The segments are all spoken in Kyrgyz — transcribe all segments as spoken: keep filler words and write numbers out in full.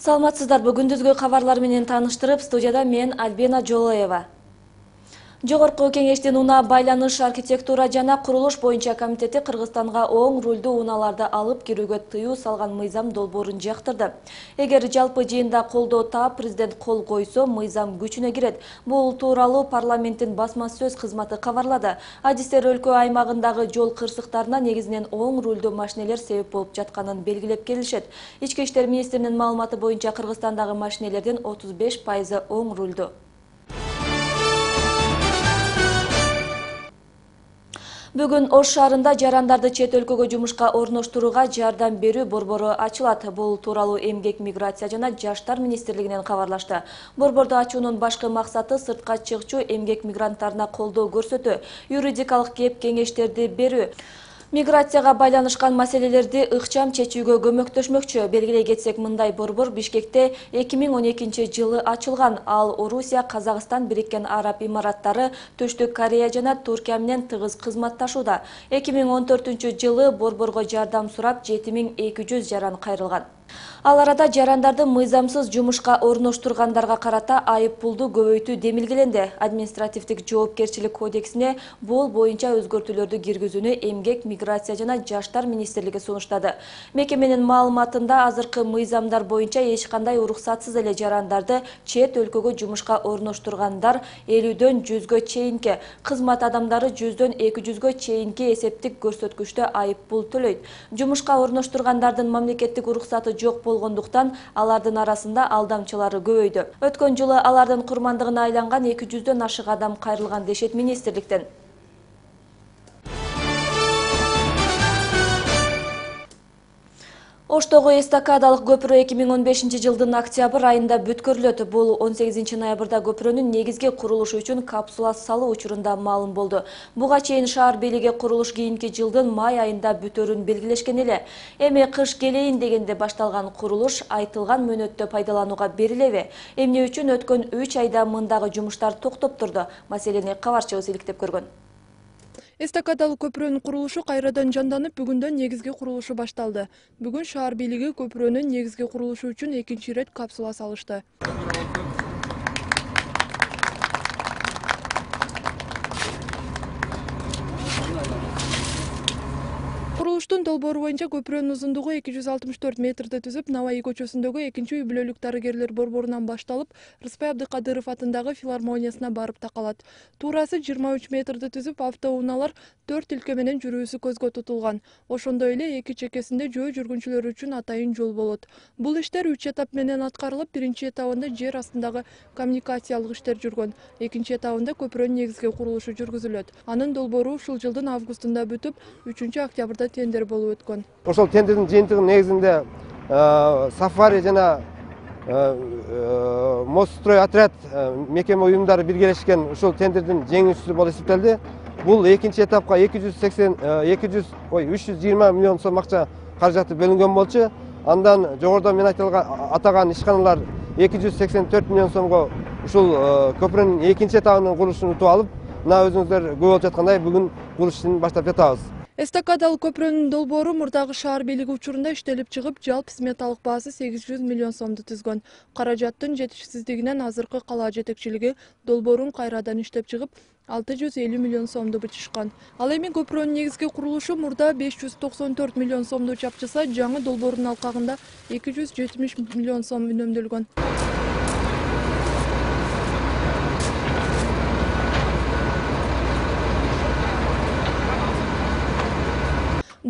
Саламатсыздарбы, күндүзгү кабарлар менен тааныштырып, студияда мен Альбина Жолоева. Жогорку кеңештин унаа байланыш, архитектура жана курулуш боюнча комитети Кыргызстанга оң рулдуу унааларды алып кирүүгө тыюу салган мыйзам долбоорун жактырды. Эгер жалпы жыйында колдоо таап, президент кол койсо, мыйзам күчүнө кирет. Бул тууралуу парламенттин басма сөз кызматы кабарлады. Адистер өлкө аймагындагы жол кырсыктарына негизинен оң рулдуу машинелер себеп болуп жатканын белгилеп келишет. Ички иштер министринин маалыматы боюнча Кыргызстандагы машинелердин отуз беш пайызы оң рулдуу. Бүгүн Ош шаарында жарандарды чет өлкөгө жумушка орноштурууга жардам берүү борбору ачылат. Бул тууралуу Эмгек, миграция жана жаштар министрлигинен кабарлашты. Борборду ачуунун башкы максаты сыртка чыкчу эмгек мигранттарына колдоо көрсөтүү, юридикалык кеп кеңештерди берүү, миграцияга байланышкан маселелерди ыкчам чечүүгө көмөктөшмөкчү. Белгилей кетсек, мындай борбор Бишкекте эки миң он экинчи жылы ачылган. Ал Орусия, Казакстан, Бириккен Араб Имараттары, Түштүк Корея жана Туркия менен тыгыз кызматташууда. эки миң он төртүнчү жылы борборго жардам сурап жети миң эки жүз жаран кайрылган. Ал арада жарандарды мыйзамсыз жумушка орноштургандарга карата айып пулду көбөйтүү демилгеленди. Административдик жоопкерчилик кодексине бул боюнча өзгөртүүлөрдү киргизүүнү Эмгек, миграция жана жаштар министрлиги сунуштады. Мекеменин маалыматында азыркы мыйзамдар боюнча эч кандай уруксатсыз эле жарандарды чет өлкөгө жумушка орноштургандар элүүдөн жүзгө чейинки, кызмат адамдары жүздөн эки жүзгө чейинки эсептик көрсөткүчтө айып пул төлөйт. Жумушка орноштургандардын мамлекеттик уруксаты жок болгондуктан алардын арасында алдамчылары көбөйдү. Өткөн жылы алардын курмандыгына айланган эки жүздөн ашык адам кайрылган дешет министрликтен. Оштогу эстакадалык көпүрө эки миң он бешинчи жылдын октябрь айында бүткөрүлөт. Бул он сегизинчи ноябрда көпүрөнүн негизги курулушу үчүн капсула салуу учурунда маалым болду. Буга чейин шаар бийлиги курулуш кийинки жылдын май айында бүтөрүн белгилешкен эле. Эми кыш келейин дегенде башталган курулуш айтылган мөөнөттө пайдаланууга берилеби? Эмне үчүн өткөн үч айда мындагы жумуштар токтоп турду? Маселени кабарчыбыз иликтеп көргөн. Эстакадалык көпүрөнүн курулушу кайрадан жанданып, бүгүндөн негизги курулушу башталды. Бүгүн шаар бийлиги көпүрөнүн негизги курулушу үчүн экинчи ирет капсула салышты. Курулуштун долбоору боюнча көпүрөнүн узундугу эки жүз алтымыш төрт метрди түзүп, Наваи көчөсүндөгү экинчи үй бүлөлүк дарыгерлер борборунан башталып, Рыспай Абдыкадыров атындагы филармониясына барып такалат. Туурасы жыйырма үч метрди түзүп, автоунаалар төрт илке менен жүрүүсү көзгө тутулган. Ошондой эле эки чекесинде жөө жүргүнчүлөр үчүн атайын жол болот. Бул иштер үч этап менен аткарылып, биринчи этабында жер астындагы коммуникациялык иштер жүргөн. Экинчи этабында көпүрөнүн негизги курулушу жүргүзүлөт. Анын долбоору ушул жылдын августунда бүтүп, үчүнчү октябрда тендер болуп өткөн. Ошол тендердин жыйынтыгы негизинде Сафари жана Мострой отряд мекеме уюмдары биргелешкен ушул тендердин жеңүүчүсү болуп эсептелди. Бул экинчи этапка эки жүз сексен эки жүз ой үч жүз жыйырма миллион сом акча каражаты бөлүнгөн болчу. Андан жогоруда мен атаган ишканалар эки жүз сексен төрт миллион сомго ушул көпүрөнүн экинчи этабынын курулушун утуп алып, мына өзүңүздөр көрүп болуп жаткандай бүгүн курулуш ишин баштап жатабыз. Эстакадалык көпүрөнүн долбоору мурдагы шаар бийлиги учурунда иштелип чыгып, жалпы сметалык баасы сегиз жүз миллион сомду түзгөн. Каражаттын жетишсиздигинен азыркы калаа жетекчилиги долбоорун кайрадан иштеп чыгып, алты жүз элүү миллион сомду бычышкан. Ал эми көпүрөнүн негизги курулушу мурда беш жүз токсон төрт миллион сомду чапчыса, жаңы долбоордун алкагында эки жүз жетимиш миллион сом үнөмдөлгөн.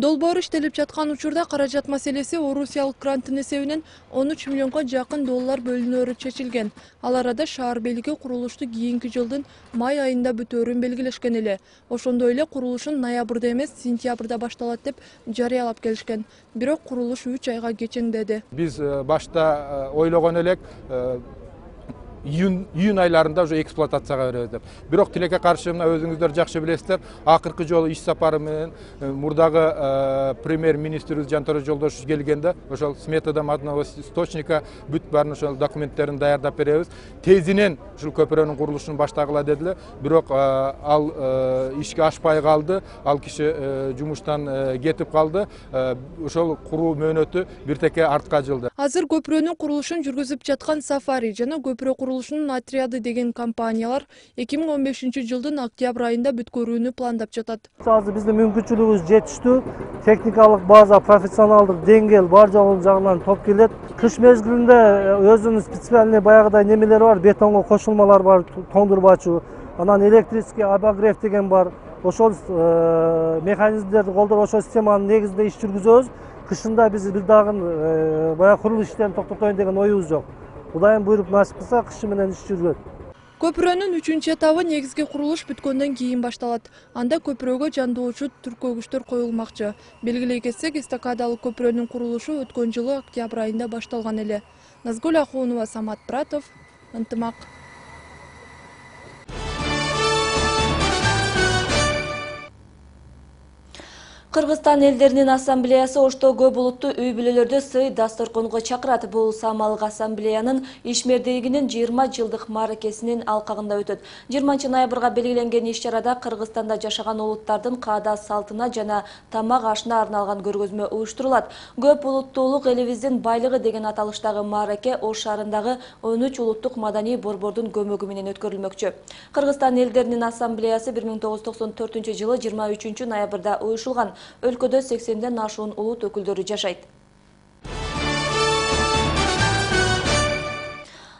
Долбоор иштелип жаткан учурда каражат маселеси Орусиялык гранттын эсебинен он үч миллионго жакын доллар бөлүнөөрү чечилген. Ал арада шаар бийлиги курулушту кийинки жылдын май айында бүтөөрүн белгилешкен эле. Ошондой эле курулушун ноябрда эмес, сентябрда башталат деп жарыялап келишкен. Бирок курулуш үч айга кечеңдеди. Биз башта ойлогон элек июнь июнь айларында уже эксплуатацияга беребиз деп. Бирок тилекке каршы мына өзүңүздөр жакшы билесиздер, акыркы жолу иш сапары менен мурдагы премьер министрибиз Жантөрө Жолдошев келгенде ошол сметадан одного источника бүт баарын ошол документтерин даярдап беребиз. Тезинен ушул көпүрөнүн курулушун баштагыла дедилер. Бирок ал ишке ашпай калды. Ал киши жумуштан кетип калды. Ошол куруу мөөнөтү бир теке артка жылды. Азыр көпүрөнүн курулушун жүргүзүп жаткан Сафари жана көпүрө курулушунун отряды деген компаниялар эки миң он бешинчи жылдын октябрь айында бүткөрүүнү пландап жатат. Азыр биздин мүмкүнчүлүгүбүз жетиштүү, техникалык база, профессионалдык деңгээл бар жогу жагынан топ келет. Кыш мезгилинде өзүнүн специальный баягыдай немелери бар, бетонго кошулмалар бар, тоңдурбачу, анан электрический обогрев деген бар. Ошол механизмдерди колдоп ошол системанын негизинде иш жүргүзөбүз. Кышында биз бир дагы баягы курулуш иштерин токтотоюн деген оюбуз жок. Кудайым буйруп насип кылса, кышы менен иш жүргөт. Көпүрөнүн үчүнчү этабы негизги курулуш бүткөндөн кийин башталат. Анда көпүрөгө жандоочу түркөгүчтөр коюлмакчы. Белгилей кетсек, эстакадалык көпүрөнүн курулушу өткөн жылы октябрь айында башталган эле. Назгүл Ахунова, Самат Пратов, Ынтымак. Кыргызстан элдеринин ассамблеясы Ошто көп улуттуу үй бүлөлөрдө сый дасторконго чакырат. Бул Самалык ассамблеянын ишмердүүлүгүнүн жыйырма жылдык мааракесинин алкагында өтөт. жыйырманчы ноябрга белгиленген иш-чарада Кыргызстанда жашаган улуттардын каада салтына жана тамак ашына арналган көргөзмө уюштурулат. Көп улуттуулук элибиздин байлыгы деген аталыштагы маараке Ош шаарындагы он үч улуттук маданий борбордун көмөгү менен өткөрүлмөкчү. Кыргызстан элдеринин ассамблеясы бир миң тогуз жүз токсон төртүнчү жылы жыйырма үчүнчү ноябрда уюшулган. Өлкөдө сексенден ашуун улут өкүлдөрү жашайт.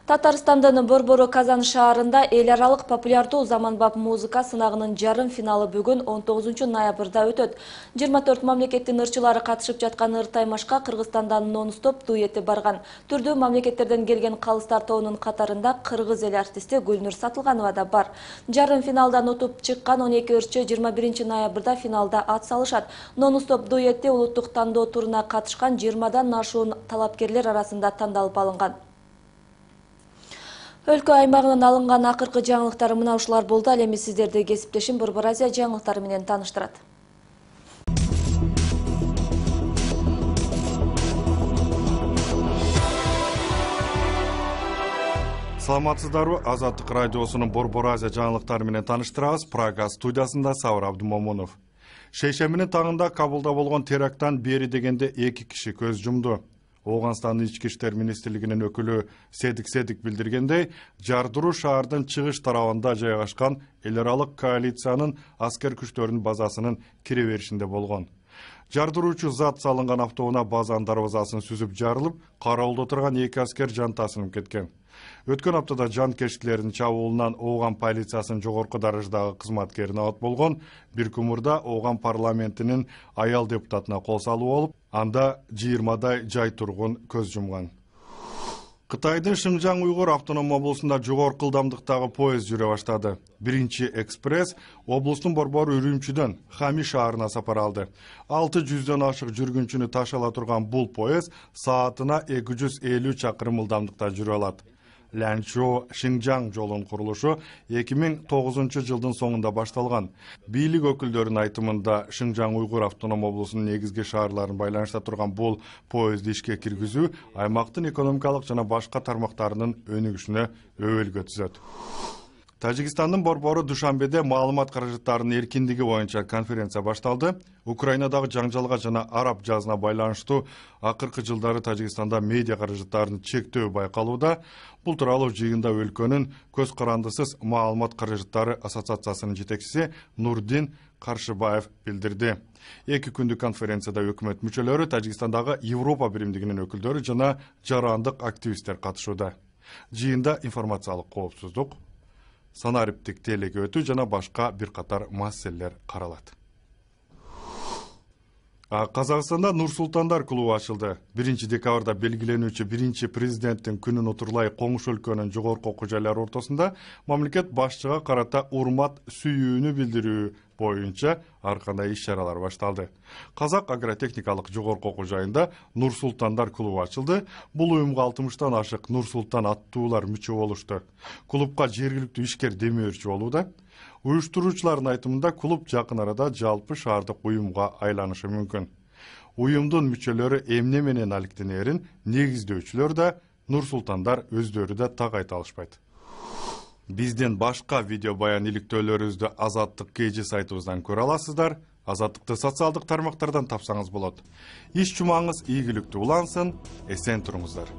Татарстандын Борбору Казан шаарында эл аралык популярдуу заманбап музыка сынагынын жарым финалы бүгүн он тогузунчу ноябрда өтөт. жыйырма төрт мамлекеттин ырчылары катышып жаткан ыр таймашка Кыргызстандан нон-стоп дуэти барган. Түрдүү мамлекеттерден келген калыстар тобунун катарында кыргыз эл артисти Гүлнур Сатылганова да бар. Жарым финалдан утуп чыккан он эки ырчы жыйырма биринчи ноябрда финалда ат салышат. Нон-стоп дуэти улуттук тандоо туруна катышкан жыйырмадан ашуун талапкерлер арасында тандалып алынган. Өлкө аймагынан алынган акыркы жаңылыктар мына ушулар болду. Ал эми сиздерди кесиптешим Борбор Азия жаңылыктары менен тааныштырат. Саламатсыздарбы? Азаттык радиосунун Борбор Азия жаңылыктары менен тааныштырабыз. Прага студиясында Сабыр Абдумомунов. Шейшембинин таңында Кабулда болгон теракттан бери дегенде эки киши көз жумду. Ооганстандын ички иштер министрлигинин өкүлү Седик Седик билдиргендей, Жардыруу шаардын чыгыш тарабында жайгашкан эл аралык коалициянын аскер күчтөрүнүн базасынын кире беришинде болгон. Жардыруучу зат салынган автоунаа базанын дарбазасын сүзүп жарылып, кароолдо турган эки аскер жан тасынып кеткен. Өткөн аптада жанкечтилердин чабуулунан Ооган полициясынын жогорку дараждагы кызматкери абат болгон. Бир күн Ооган парламентинин аял депутатына кол салуу болуп, анда жыйырмадай жай тургун көз жумган. Кытайдын Шыңжаң уйгур автоном облусунда жогорку ылдамдыктагы поезд жүрө баштады. Биринчи экспресс облустун борбору Үрүмчүдөн Хами шаарына сапар алды. алты жүздөн ашык жүргүнчүнү ташала турган бул поезд саатына эки жүз элүү чакырым ылдамдыкта жүрө алат. Лянчжоу Шыңжаң жолунун курулушу эки миң тогузунчу жылдын соңунда башталган. Бийлик өкүлдөрүнүн айтымында Шыңжаң уйгур автоном облусунун негизги шаарларын байланышта турган бул поездди ишке киргизүү аймактын экономикалык жана башка тармактарынын өнүгүшүнө өбөлгө түзөт. Тажикстандын борбору Душанбеде маалымат каражаттарынын эркиндиги боюнча конференция башталды. Украинадагы жаңжалга жана араб жазына байланыштуу акыркы жылдары Тажикстанда медиа каражаттарынын чектөө байкалууда. Бул тууралуу жыйында өлкөнүн көз карандысыз маалымат каражаттары ассоциациясынын жетекчиси Нурдин Каршыбаев билдирди. Эки күндүк конференцияда өкмөт мүчөлөрү, Тажикстандагы Европа биримдигинин өкүлдөрү жана жарандык активисттер катышууда. Жыйында информациялык коопсуздук, санариптик телеке өтүү жана башка бир катар маселелер каралат. Казакстанда Нур-Султандар клубу ачылды. биринчи декабрда белгиленүүчү биринчи президенттин күнүн утурлай коңшу өлкөнүн жогорку окуу жайлары ортосунда мамлекет башчыга карата урмат сүйүүнү билдирүү боюнча ар кандай иш чаралар башталды. Казак агротехникалык жогорку окуу жайында Нур Султандар клубу ачылды. Бул уюмга алтымыштан ашык Нур Султан аттуулар мүчө болушту. Клубка жергиликтүү ишкер демөөрчү болууда. Уюштуруучулардын айтымында клуб жакын арада жалпы шаардык уюмга айланышы мүмкүн. Уюмдун мүчөлөрү эмне менен алектенерин негиздөөчүлөр да, Нур Султандар өздөрү да так айта алышпайт. Биздин башка видео баян иликтөөлөрүбүздү Азаттык кей жи сайтыбыздан көрө аласыздар. Азаттыкты социалдык тармактардан тапсаңыз болот. Иш жумаңыз ийгиликтүү улансын, эсен туруңуздар.